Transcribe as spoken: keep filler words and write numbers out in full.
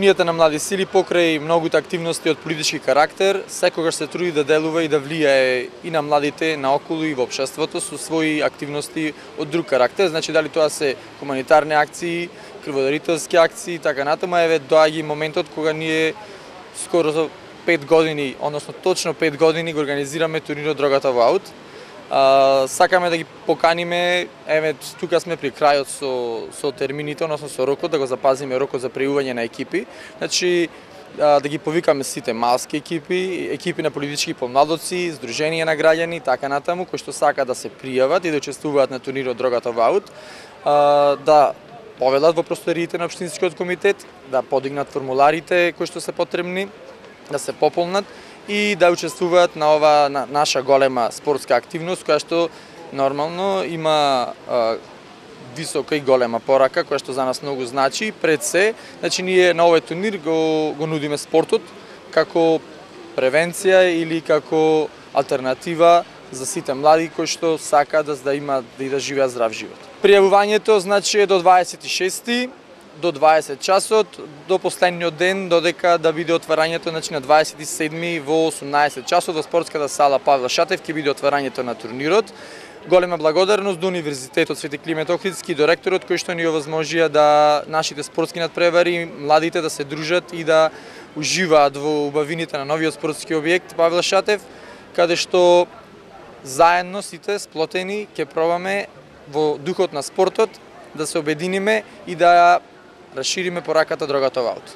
Унијата на млади сили покрај многуте активности од политички карактер, секогаш се труди да делува и да влијае и на младите наоколу и во општеството со своји активности од друг карактер. Значи дали тоа се хуманитарни акции, крводарителски акции, така натаму, еве доаѓа и моментот кога ние скоро за пет години, односно точно пет години го организираме турнирот Дрогата во аут. А, сакаме да ги поканиме, еве тука сме при крајот со со термините, односно со рокот, да го запазиме рокот за пријување на екипи. Значи а, да ги повикаме сите малски екипи, екипи на политички помладоци, здруженија на граѓани, така натаму, кои што сакаат да се пријават и да учествуваат на турнирот Дрогата во аут, а, да повелат во просториите на општинскиот комитет, да подигнат формуларите кои што се потребни, да се пополнат и да учествуваат на ова на наша голема спортска активност, која што нормално има а, висока и голема порака, која што за нас многу значи. Пред се, значи ние на овој турнир го, го нудиме спортот како превенција или како алтернатива за сите млади кои што сакаат да, да има да и да живеат здрав живот. Пријавувањето значи е до дваесет и шести до дваесет часот, до последниот ден, додека да биде отварањето, значи на дваесет и седми во осумнаесет часот во спортската сала Павле Шатев ќе биде отварањето на турнирот. Голема благодарност до Универзитетот Свети Климент Охридски и до ректорот кои што ни овозможија да нашите спортски надпревари, младите да се дружат и да уживаат во убавините на новиот спортски објект Павле Шатев, каде што заедно сите сплотени ќе пробаме во духот на спортот да се обединиме и да расшириме пораката Дрогата во аут.